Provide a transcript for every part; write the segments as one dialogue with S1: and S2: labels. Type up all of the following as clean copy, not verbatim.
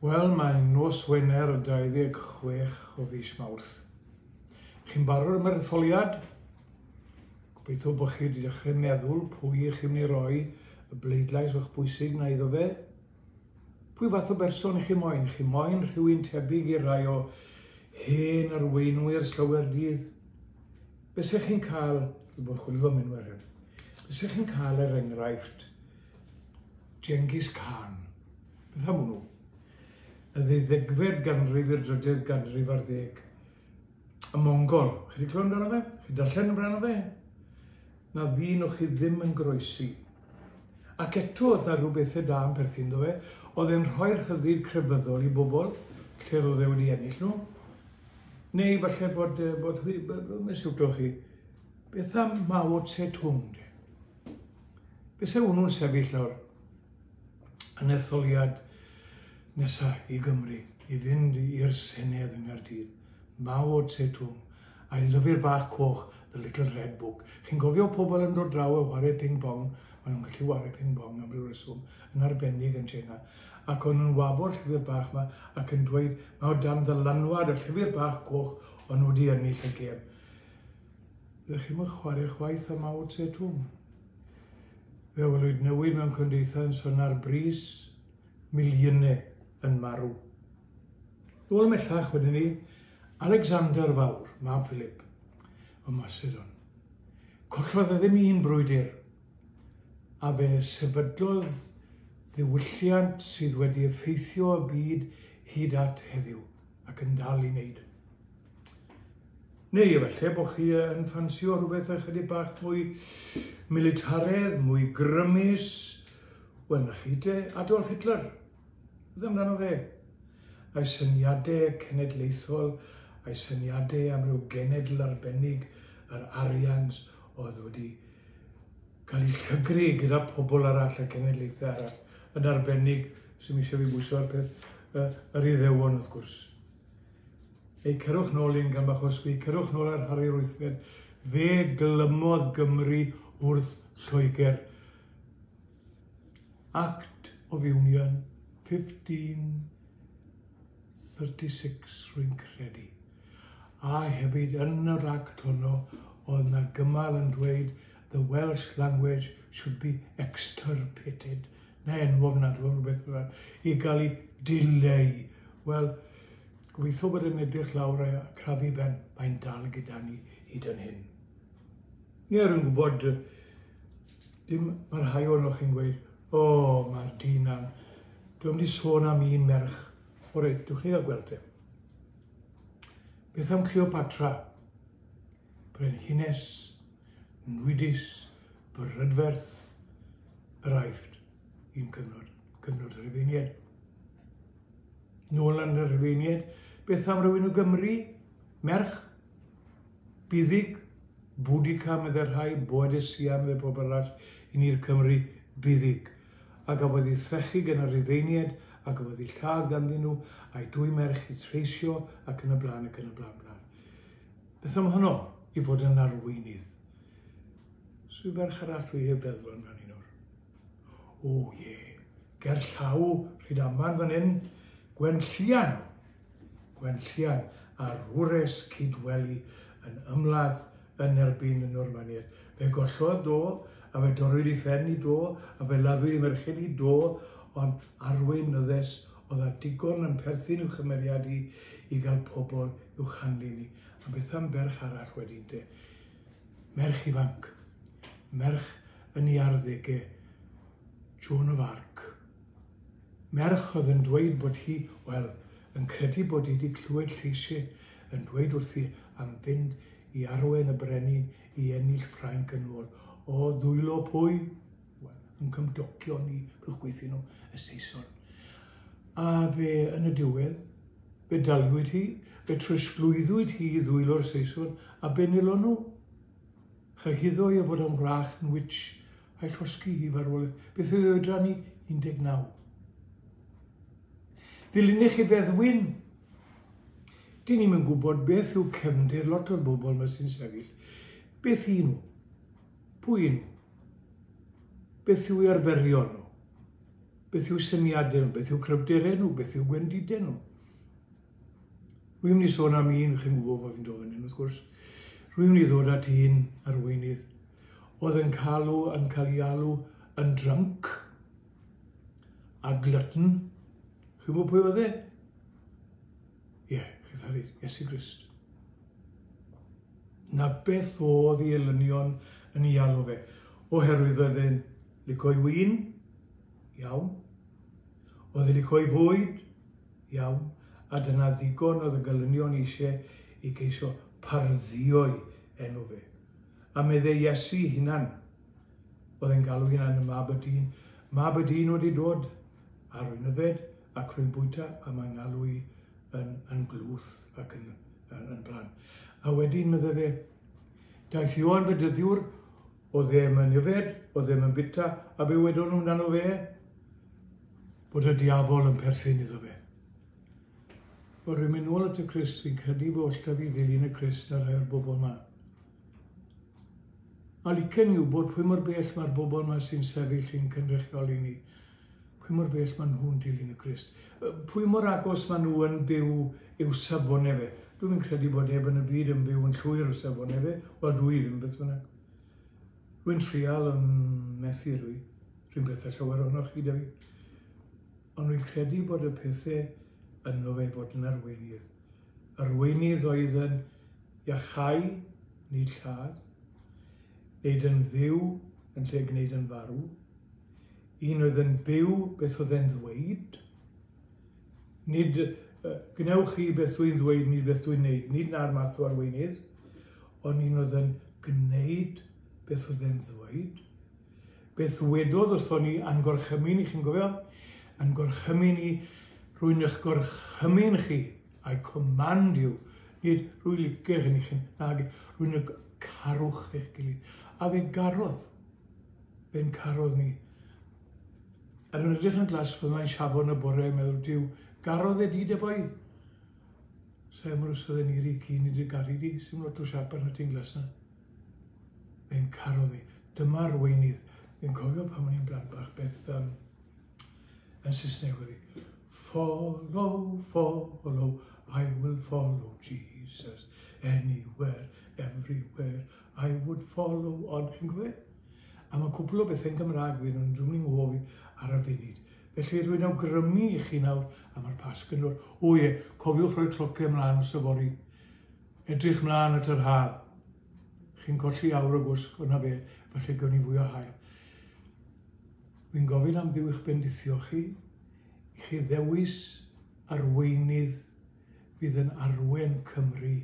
S1: Wel, mae'n nos Wener y 26 o fis Mawrth. Chi'n barod am yr etholiad? Gobeithio bod chi wedi dechrau meddwl pwy i chi'n mynd i roi y bleidlais o'ch bwysig na iddo fe. Pwy fath o berson i chi moyn? Chi moyn rhywun tebyg i rai o hen arweinwyr slawer dydd? Be se chi'n cael, dwi'n bod chwilio am enwau rhywun, be se chi'n cael er enghraifft Genghis Khan? Beth am hwnnw? Y ddeuddegfed ganrif i'r drydedd ganrif ar ddeg. Y Mongol. Chi wedi clywed amdano fe? Chi darllen amdano fe? Na ddyn o'ch chi ddim yn groesi. Ac eto oedd na rhyw bethau da yn perthyn iddo fe. Oedd e'n rhoi'r rhyddid crefyddol i bobl, lle roedd e wedi ennill nhw. Neu falle bod, bod hwy, mae'n siwto chi. Beth am Mao Tse-tung, de? Beth se hwnnw'n sefyll nawr? yn etholiad nesa i Gymru, i fynd i'r Senedd yng Nghaerdydd. Mao Tse-tung, a'i lyfr bach coch, The Little Red Book. Chi'n cofio pobl yn dod draw a whare ping-pong? Maen nhw'n gallu whare ping-pong am ryw reswm, yn arbennig yn Tsieina. Ac o'n nhw'n wafo'r llyfr bach 'ma ac yn dweud, mae o dan ddylanwad y llyfr bach coch o'n nhw wedi ennill y gêm. Ydych chi'm yn chwarae chwaith â Mao Tse-tung? Fe welwyd newid mewn cymdeithas yn ar bris miliynau yn marw. Nôl ymhellach wedyn ni, Alexander Fawr, mab Philip o Macedon. Collodd e ddim un brwydr, a fe sefydlodd ddiwylliant sydd wedi effeithio y byd hyd at heddiw, ac yn dal i wneud. Neu efallai bod chi yn ffansio rhywbeth ychydig bach mwy militaredd, mwy grymus. Wel, na chi te, Adolf Hitler. Beth amdano fe? A'i syniadau cenedlaethol, a'i syniadau am ryw genedl arbennig, yr Aryans, oedd wedi cael eu llygru gyda pobl arall a cenedlaethau arall, yn arbennig, sy'n eisiau fi bwyso ar peth, yr Iddewon wrth gwrs. Ei, cerwch nôl un gam bach o sbi, cerwch nôl ar Harri'r Wythfed. Fe glymodd Gymru wrth Lloegr. Act of Union 1536 rwy'n credu. A hefyd yn yr act honno oedd na gymal yn dweud the Welsh language should be extirpated. Na enw ofnadwy rhywbeth fel i gael ei dileu. Wel, Gobeithio bod e'n edrych lawr a crafu ben, mae'n dal gyda ni hyd yn hyn. Ie, rwy'n gwybod, dim, mae rhai ohonoch chi'n gweud, o, oh, mae'r dyn am, dwi'n mynd i sôn am un merch. O reit, dwch ni gael gweld e. Beth am Cleopatra? Brenhines, nwydus, brydferth, yr Aifft, un cyfnod, cyfnod y Rhufeiniaid. Nôl yn y Rhufeiniaid, beth am rywun o Gymru? Merch? Buddug? Boudica, meddai rhai, Boadicea, meddai pob arall, i ni'r Cymry, Buddug. A gafodd ei threchu gan y Rhufeiniaid, a gafodd ei lladd ganddyn nhw, a'i dwy merch eu treisio, ac yn y blaen, ac yn y blaen, blaen. Beth am honno i fod yn arweinydd? Swy ferch arall dwi heb feddwl amdani nawr. O ie, ger llaw Rhydaman fan hyn, Gwenllian. Gwenllian a'r wres Cydweli yn ymladd yn erbyn y Normaniaid. Fe gollodd do, a fe dorrwyd ei phen i do, a fe laddwyd ei merched i do, ond arweinyddes oedd â digon yn perthyn i'w chymeriad hi i gael pobl i'w chanlyn hi. A beth am ferch arall wedyn te? Merch ifanc. Merch yn ei arddegau, Joan of Arc. Merch oedd yn dweud bod hi, wel, yn credu bod hi wedi clywed lleisiau yn dweud wrthi am fynd i arwain y brenin i ennill Ffrainc yn ôl. O ddwylo pwy? Wel, yn cymdogion ni, rhywch gweithio nhw, y Saeson. A fe, yn y diwedd, fe daliwyd hi, fe trosglwyddwyd hi i ddwylo'r Saeson, a be nilon nhw? Chyhuddo i o fod yn wrach yn witch a'i llosgi hi farwolaeth. Beth oedd ei oedran hi? 19. Ddilynech chi feddwyn? Dyn ni'm yn gwybod beth yw cefndir lot o'r bobl yma sy'n sefyll. Beth y'n nhw? Pwy y'n nhw? Beth yw eu arferion nhw? Beth yw syniadau nhw, beth yw cryfderau nhw, beth yw gwendidau nhw. Rwy'n mynd i sôn am un, chi'n gwybod bod fi'n dod fan hyn wrth gwrs. Rwy'n mynd i ddod at un arweinydd oedd yn calw, yn cael ei alw yn drunk a glutton. Chi'n gwybod pwy oedd e? Ie, yeah, chi'n tharu, Iesu Grist. Na beth oedd ei elynion yn ei alw fe, oherwydd oedd e'n lico'i win, iawn. Oedd e'n lico'i fwyd, iawn. A dyna ddigon oedd y gelynion eisiau i geisio parddio'i enw fe. A meddai Iesu hunan, oedd e'n galw hunan y mab y dyn. Mab y dyn wedi dod, a rwy'n yfed, ac rwy'n bwyta, a mae'n galw i yn, yn glwth ac yn, yn, yn blan. A wedyn, meddai fe, daeth Ioan Fedyddiwr, oedd ddim yn yfed, oedd ddim yn bita, a be wedon nhw amdano fe? Bod y diafol yn perthyn iddo fe. Wel, rwy'n mynd nôl at y Crist, fi'n credu bod oll da fi ddilyn y Crist ar rhai o'r bobl yma. A licen i wybod pwy mor bell mae'r bobl yma sy'n sefyll i'n cynrychioli ni. Pwy mor bell maen nhw'n dilyn y Crist. Pwy mor agos maen nhw yn byw i'w safonau fe. Dwi'n credu bod neb yn y byd yn byw yn llwyr o safonau fe. Wel, dwi ddim, beth bynnag. Rwy'n trial yn methu rwy. Rwy'n beth â llawer ohonoch chi, da fi. Ond rwy'n credu bod y pethau yno fe fod yn arweinydd. Arweinydd oedd yn iachau, nid lladd, wneud yn fyw yn lle gwneud yn farw. Un oedd yn byw beth oedd e'n ddweud. Nid gwnewch chi beth dwi'n ddweud, nid beth dwi'n neud. Nid na'r math o arweinydd, ond un oedd yn gwneud beth oedd e'n ddweud. Beth ddwedodd wrthon ni a'n gorchymyn i, chi'n gofio? A'n gorchymyn i, rwy'n eich gorchymyn chi, I command you. Nid rwy'n licio chi, chi, nag, rwy'n eich carwch eich gilydd. A fe garodd, fe'n carodd ni. A dwi'n edrych yn glas pan mae'n siafon y bore, meddwl, Duw, garodd e di dy boi? Sa'i mor os oedd e'n iri cyn i dy garu di, sy'n lot o siap arna ti'n glas na. Fe'n carodd i. Dyma'r weinydd. Fi'n cofio pan o'n i'n blant bach beth yn Saesneg oedd hi. Follow, follow, I will follow Jesus. Anywhere, everywhere, I would follow on. Chi'n cofio? A mae cwpl o bethau'n Gymraeg fi, ond dwi'n mynd nghofi ar y funud. Felly rwy'n awgrymu i chi nawr, a mae'r Pasg yn dod. O ie, cofiwch rhoi clociau ymlaen os yfory. Edrych mlaen at yr haf. Chi'n colli awr o gwsg, o'na fe, falle gewn ni fwy o haul. Wy'n gofyn am Dduw eich bendithio chi, i chi ddewis arweinydd fydd yn arwen Cymru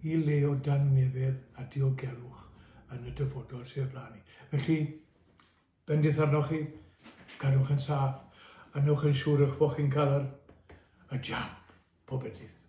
S1: i le o dangnefedd a diogelwch yn y dyfodol sydd o blaen ni. Felly, bendith arnoch chi, cadwch yn saff, a newch yn siŵr eich bod chi'n cael yr, y jab, pob bendith.